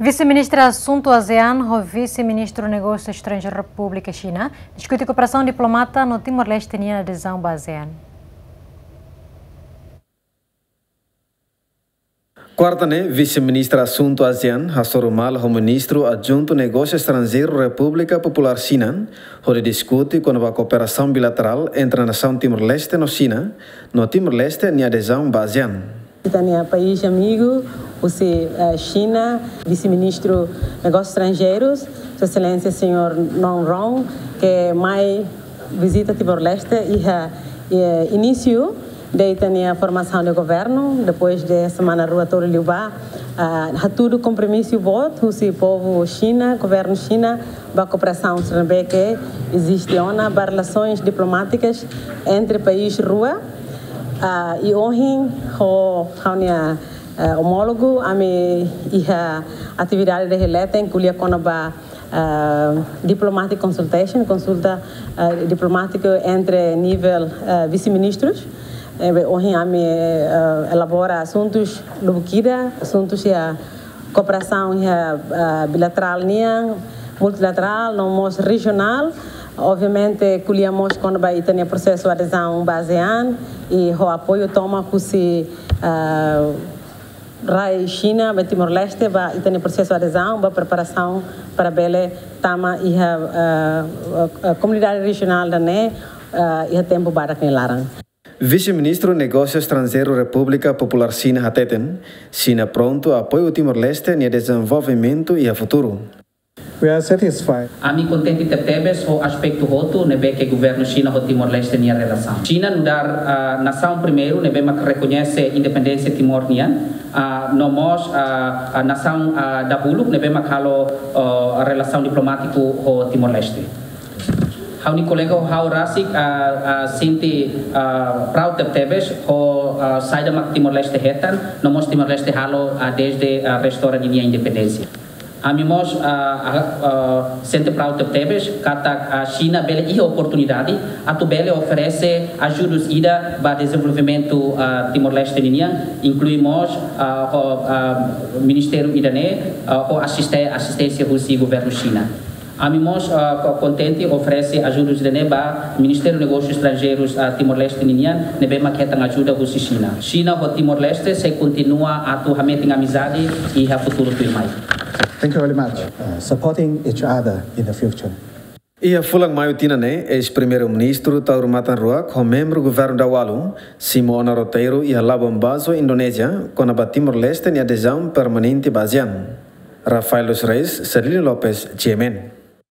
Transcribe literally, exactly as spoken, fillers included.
Vise-Ministra Asuntu ASEAN ho Vise-Ministru Negósiu Estranjeiru Repúblika Xina diskute kooperasaun diplomata no Timor-Leste nia adezaun ba ASEAN. Kuarta ne'e, Vise-Ministra Asuntu ASEAN hasoru malu ho Ministru Adjuntu Negósiu Estranjeiru Repúblika Populár Xina, hodi diskute kona-ba kooperasaun bilaterál entre nasaun Timor-Leste no Xina, no Timor-Leste nia adezaun ba ASEAN. Ita-nia país amigu husi, eh, Xina, Vise-Ministru Negósius Estranjeirus, Sua Exelénsia Señór Nong Rong, ke mai vizita Timor-Leste iha, eh, inísiu de ita-nia formasaun de governu, depois de semana rua tolu liubá, ah, hatudu kompromisu boot husi povu Xina, governu Xina, ba kooperasaun sira ne'ebé ke eziste ona, ba relasoens diplomátikas entre país rua. Ah, i ohin ho ha'u-nia, eh, omólogu, ami iha atividade de releten, ko'alia kona-ba, eh, diplomatic consultation, konsulta, eh, diplomátiku entre nivel, eh, vise-ministrus. Eh, be ohin ami, eh, elabora asuntus lubuk ida, asuntus iha kooperasaun iha, ah, bilaterál nian, multilaterál, no mós rejionál. Obviamente, ko'alia mós kona-ba ita-nia prosesu adezaun ba ASEAN, i ho apoiu tomak husi, ah, rai Xina ba Timor-Leste, ba ita-nia prosesu adezaun, ba preparasaun para bele tama iha, ah, ah, komunidade rejionál ida-ne'e, ah, iha tempu badak nia laran. Vise-Ministru Negósiu Estranjeiru Repúblika Populár Xina hateten, Xina prontu apoiu Timor-Leste nia dezenvolvimentu iha futuru. We are satisfied. Ami kontente tebetebes ho aspetu hotu ne'ebé ke governu Xina ho Timor-Leste nia relasaun. Xina nu'udar, ah, nasaun primeiru ne'ebé mak rekoñese independénsia Timor nian, ah, no mós, ah, ah, nasaun, ah, dahuluk ne'ebé mak halo, ah, relasaun diplomátiku ho Timor-Leste. Ha'u-nia kolega ho ha'u rasik, ah, ah, sente, ah, proud tebetebes ho, ah, saida mak Timor-Leste hetan, no mós Timor-Leste halo, ah, desde, ah, restaura ninia independénsia. Ami mós, ah, ah, ah, sente proud tebetebes katak, ah, Xina bele iha oportunidade atu bele oferese ajudus ida ba dezenvolvimentu, ah, Timor-Leste ninian, inklui mós, ah, ho, ah, ministériu ida-ne'e, ah, ho asiste-, asisténsia husi governu Xina. Ami mós, ah, ko-, kontente oferese ajudus ida-ne'e ba Ministériu Negósius Estranjeirus, ah, Timor-Leste ninian, ne'ebé mak hetan ajuda husi Xina. Xina ho Timor-Leste sei kontinua atu hametin amizade iha futuru tuirmai. Thank you very much. Uh, supporting each other in the future. Iha fulan Maiu tinan ne'e, eis-Primeiru-Ministru Taur Matan Ruak ho membru governu daualu simu ona roteiru iha Labuan Bajo, Indonézia, kona-ba Timor-Leste nia adezaun permanente ba ASEAN. Rafael dos Reis, Celino Lopes, G M N.